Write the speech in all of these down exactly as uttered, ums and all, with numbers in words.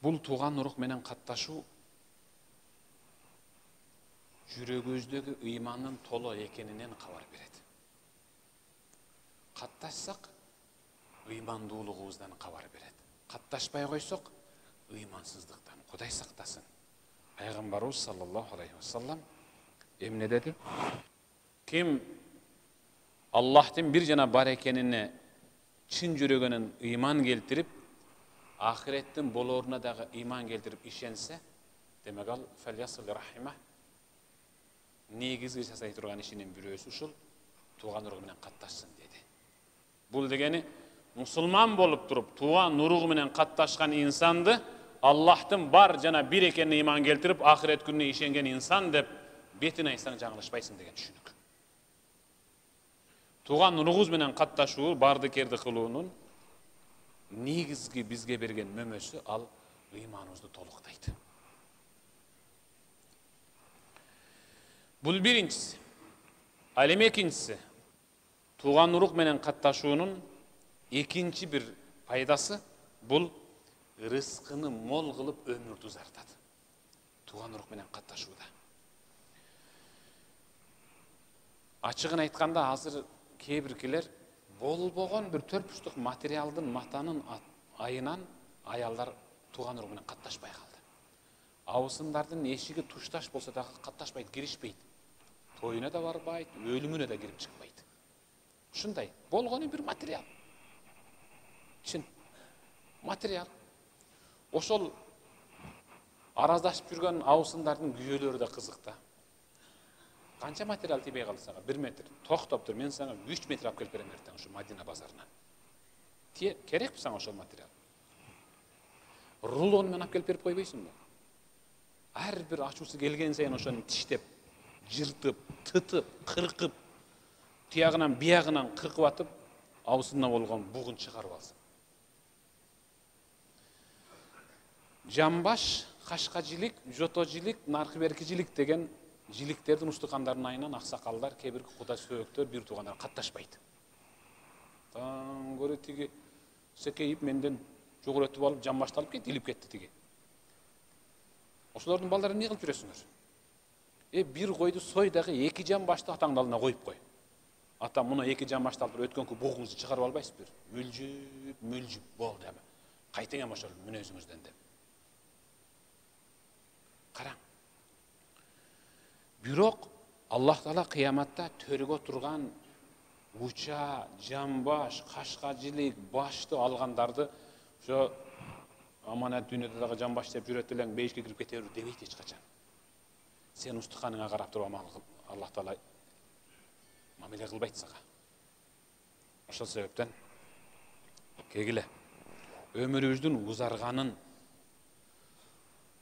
Бул тууган урук менен катташуу жүрөгүбүздөгү ыймандын толо экенинен кабар берет. Катташсак, ыймандуулугубуздан кабар берет. Катташпай койсок, ыймансыздыктан Кудай сактасын. Пайгамбарыбыз саллаллаху алейхи вассалам эмне деди? Ким Аллахтын бир жана бар экенине чын жүрөгүнөн ыйман келтирип, ахиреттин болоруна дагы ыйман келтирип ишенсе, демек ал фальясыл рахима, негизги жасай турган ишинин бирөөсү ушул тууган уругу менен катташсын деди. Бул дегени мусулман болуп туруп тууган уругу менен катташкан инсанды Аллахтын бар жана бир экенине ыйман келтирип, ахирет күнүнө ишенген инсан деп бетин айсаң жаңылышпайсың деген түшүнүк. Тууган уругубуз менен катташуу, барды керди кылуунун негизги бизге берген мөмөсү ал ыйманыбызды толуктайт. Бул биринчиси. Ал эми экинчиси. Тууган урук менен катташуунун экинчи бир пайдасы бул рызкыны мол кылып өмүрдү узартат. Тууган урук менен катташууда. Ачыгын айтканда азыр кээ биркилер болбогон бир төрт материалдын матанын айынан аялдар тууган урук менен катташпай калды. Абысындардын эшиги тушташ болсо да катташпайт, киришпейт. Тоюна да барбайт, өлүмүнө да кирип чыкпайт. Ушундай болгону бир материал. Чын материал. Ошол араздашып жүргөн абысындардын күйөөлөрү да кызык да. Канча материал тийбей калды сага? бир метр. Токтоп тур, мен сага үч метр алып келип берем эртең ушу Мадина базарынан. Тие керекпи сага ошол материал? Рулон менен алып келип берип койбойсуңбу? Ар бир ачуусу келген сайын ошону тиштеп, жыртып, тытып, кыркып, тиягынан биягынан кыркып атып, абысына болгон бугун чыгарып алсын. Жамбаш, кашкажилик, жотожилик, наркы-беркижилик деген жиликтердин устукандарынын айынан аксакалдар, кээ бир куда сөөктөр, бир туугандар катташпайт. Таң көрө тиги секейип менден жогоротуп алып, жамбашты алып кетти, илип кетти тиги. Ошолордун балдарын эмне кылып жүрөсүңөр? Э бир койду сой дагы эки жамбашты атаңдын алдына коюп кой. Ата муну эки жамбашты алып өткөнкү бугуңузду чыгарып албайсызбы? Мөлжүп, мөлжүп болду эми. Кайтың эми ошол мүнөзүңүздөн деп. Караң. Бирок Аллах Таала кыяматта төргө турган уча, жамбаш, кашкажилик, башты алгандарды ошо аманат дүйнөдө дагы жамбаш деп жүрөт элең, бейишке кирип кете бер дебейт эч качан. Сен устуканыңа карап туруп амал кыл. Аллах Таала мамиле кылбайт сага. Ошол себептен кегиле өмүрүбүздүн узарганын,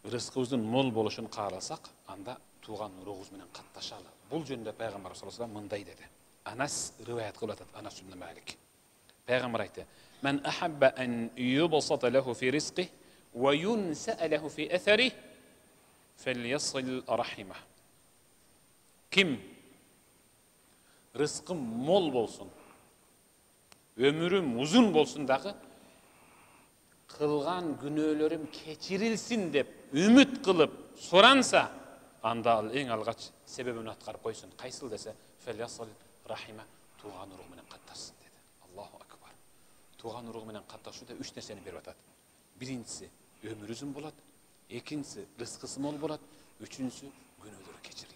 рызкыбыздын мол болушун кааласак, анда тууган уругубуз менен катташалы. Бул жөнүндө пайгамбар саллаллаху алейхи вассалам мындай деди. Анас риваят кылып атат, Анас ибн Малик. Пайгамбар айтты: "Мен ахабба ан юбсата лаху фи ризқи ва юнса лаху фи аthari фальясил рахима." Ким рызкым мол болсун, өмүрүм узун болсун дагы, кылган күнөөлөрүм кечирилсин деп үмүт кылып соранса, анда ал эң алгач себебин аткарып койсун. Кайсыл десе, фальясил рахима, тууган уругу менен катташсын деди. Аллаху акбар. Тууган уругу менен катташууда үч нерсени берип атат. Биринчиси өмүр узун болот, экинчиси рызкысы мол болот, үчүнчүсү күнөөлөрү кечирилет.